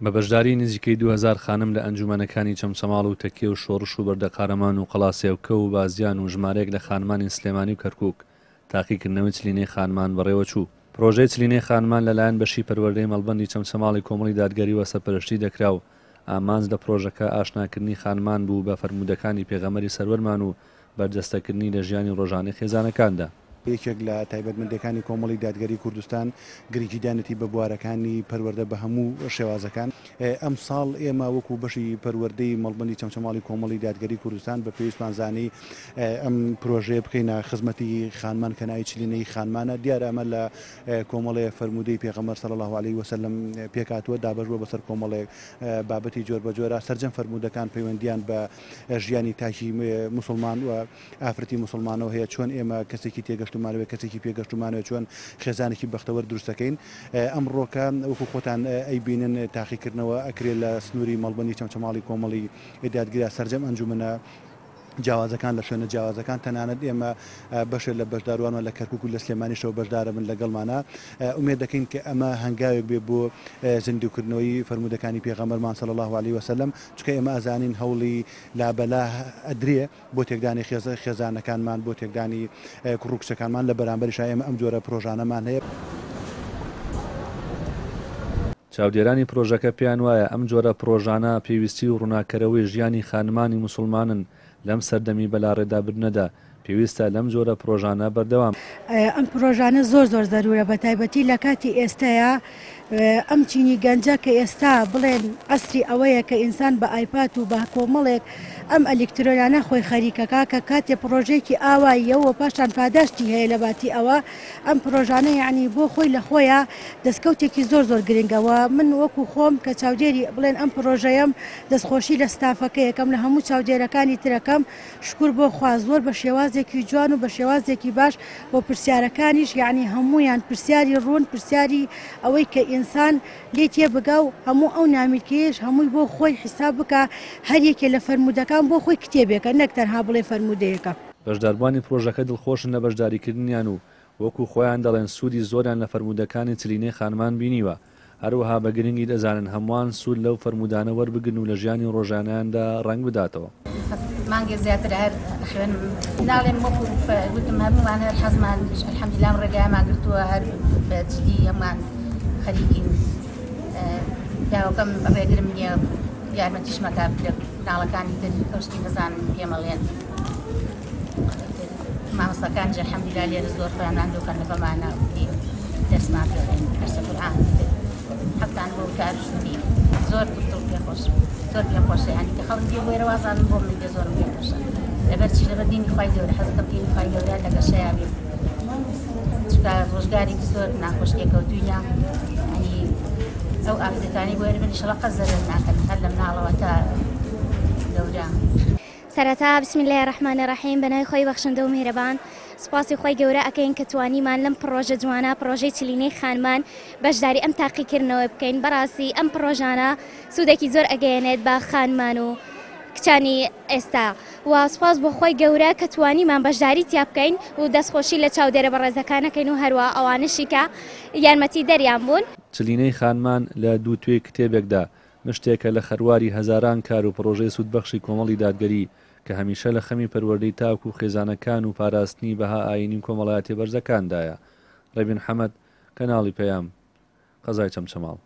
بە بەشداری نزیکەی 2000 خانم لە ئەنجومەنەکانی چەمچەماڵ و تەکیە و شۆڕش و بەردەقارەمان و قەڵاسێوکە و بازیان و ژمارەیەک لە خانمانی سلێمانی و کەرکوک، تاقیکردنەوەی چلینەی خانمان بەڕێوەچوو. پرۆژەی چلینەی خانمان لەلایەن بەشی پەروەردەی مەڵبەندی چەمچەماڵی کۆمەڵی دادگەریوە سەرپەرشتی دەکرا و ئامانج لە پرۆژەکە ئاشناکردنی خانمان بوو بە فەرموودەکانی پێغەمبەری سەروەرمان و بەرجەستەکردنی لە ژیانی ڕۆژانەی خێزانەکاندا. یەکێک لە تایبەتمەندییەکانی کۆمەڵی دادگەری کوردستان گرنگیدانێتی بە بوارەکانی پەروەردە بە هەموو شێوازەکان. ئەمساڵ ئێمە وەکو بەشی پەروەردەی مەڵبەندی چەمچەماڵی کۆمەڵی دادگەری کوردستان بە پێویستمان زانی ئەم پرۆژەیە بکەینە خزمەتی خانمان کە ناوی چلینەی خانمانە. دیارە ئەمە لە کۆمەڵێ فەرموودەی پێغەمبەر صلی اللە علیه وسلم پێکهاتووە، دابەش بووە بەسەر کۆمەڵێک بابەتی جۆربەجۆرا. سەرجەم فەرموودەکان پەیوەندییان بە ژیانی تاکی موسڵمان و ئافرەتی موسڵمانەوە هەیە، چۆن ئێمە کەسێکی تێگەشتوومانەوێت، کەسێکی پێگەشتوومانەوێت، چۆن خێزانێکی بەختەوەر دروست دەکەین. ئەمڕۆکە وەکو خۆتان ئەیبینن تاقیکردنەوە ئەکرێ لە سنووری مەڵبەندی چەمچەماڵی کۆمەڵی دادگرا سەرجەم ئەنجومەنە جیاوازەکان لە شوێنە جیاوازەکان، تەنانەت ئێمە بەشێ لە بەشداروانمان لە کەرکوک و لە سلێمانیشەوە بەشدارەبن لەگەڵمانا، ئومێد دەکەین کە ئەمە هەنگاوێک بێ بۆ زیندووکردنەوەی فەرموودەکانی پێغەمبەرمان صلی اللە علیە وسلم، چونکە ئێمە ئەزانین هەوڵی لابەلا ئەدرێ بۆ تێکدانی خێزانەکانمان، بۆ تێکدانی کوڕ و کچەکانمان، لە بەرامبەریشا ئێمە ئەم جۆرە پرۆژانەمان هەیە. چاودێرانی پرۆژەکە پێیان وایە ئەم جۆرە پرۆژانە پێویستی و ڕووناککەرەوەی ژیانی خانمانی موسوڵمانن لەم سەردەمی بەلاڕێدابردنەدا، پێویستە لەم جۆرە پرۆژانە بەردەوام. ئەم پرۆژانە زۆر زۆر زەرورە بەتایبەتی لە کاتی ئێستایا ئەم چینی گەنجە کە ئێستا بڵێن عەسری ئەوەیە کە ئینسان بە ئایپات و بە کۆمەڵێک ئەم ئەلیکترۆنانە خۆی خەریکەکا کە کاتێ پرۆژەیەکی ئاواییە و پاشان پاداشتی هەیە لە باتی ئەوە ئەم پرۆژانە یەعنی بۆ خۆی لە خۆیا دەستکەوتێکی زۆر زۆر گرنگە و من وەکو خۆم کە چاودێری بڵێن ئەم پرۆژەیەم دەستخۆشی لە ستافەکەیەکەم لە هەموو چاودێرەکانی ترەکەم شکور بۆ خوا زۆر بە شێوازێکی جوان و بە شێوازێکی باش و پرسیارەکانیش یەعنی هەموویان پرسیاری ڕوون پرسیاری ئەوەی کە ئینسان لێی تێبگا و هەموو ئەو نامیلکەیەش هەمووی بۆ خۆی حیساب بکا هەر یەکێ لە فەرموودەکان بۆ خۆی کتێبێکە نەک تەنها بڵێ فەرموودەیەکە. بەشداربووانی پرۆژەکە دڵخۆشن لە بەشداریکردنیان و وەکو خۆیان دەڵێن سوودی زۆریان لە فەرموودەکانی چلینەی خانمان بینیوە، هەروەها بە گرنگی دەزانن هەمووان سوود لەو فەرموودانە وەربگرن و لە ژیانی ڕۆژانەیاندا ڕەنگ بداتەوە. مانگێک زیاترە هەر ئەخوێنم ناڵێم وەکو وتم هەموومان هەر حەزمان الحمدلله ئەم ڕێگایەمان گرتووە هەر بە جدی هەمووان خەریکین پیاوەکەم ڕێگرم نییە یارمەتیشم ئەکات لە مناڵەکانی تر ئەو شتی نەزانن پێمەڵێن مامۆستاکانیش الحمدللە لێرە زۆر خۆیان ماندوو کەن لەگەڵمانە دەرسمان پێ دەڵێن دەرسە قورئان حەفتان بۆ وتار شووری زۆر دڵ پێ خۆش زۆر پێ خۆشە یانی کە خەڵک دێ بۆیرە وازانم بۆ من دێ زۆرم پێ خۆشە لەبەر چی لەبەر دینی خوای گەورە حەزەکەم دینی خوای گەورە لە گەشەیا بێ چونکە ڕۆژگارێکی زۆر ناخۆش لێکەوتوینە ینی ئەو ئافرەتانی بۆیە بن ئیشەڵا قەت زەرەر ناکەن هەر لە مناڵەوە تا گەورە. سەرەتا بسم اللە الرحمن الرحیم بەناوی خوای بەخشندە و میهرەبان سوپاسی خوای گەورە ئەکەین کە توانیمان لەم پڕۆژە جوانە پڕۆژەی چلینەی خانمان بەشداری ئەم تاقیکردنەوە بکەین بەڕاستی ئەم پڕۆژانە سوودێکی زۆر ئەگەیەنێت بە خانمان و کچانی ئێستا و سوپاس بۆ خوای گەورە کە توانیمان بەشداری تیا بکەین و دەستخۆشی لە چاودێرە بەڕێزەکانەکەین و هەروە ئەوانشی کە یارمەتی دەریان بوون. چلینەی خانمان لە دوو توێی کتێبێکدا مشتێکە لە خەرواری هەزاران کار و پڕۆژەی سوودبەخشی کۆمەڵی دادگەری کە هەمیشە لە خەمی پەروەردەی تاک و خێزانەکان و پاراستنی بەها ئایینی و کۆمەڵایەتیە بەرزەکاندایە. ڕێبین حەمەد، کەناڵی پەیام، قەزای چەمچەماڵ.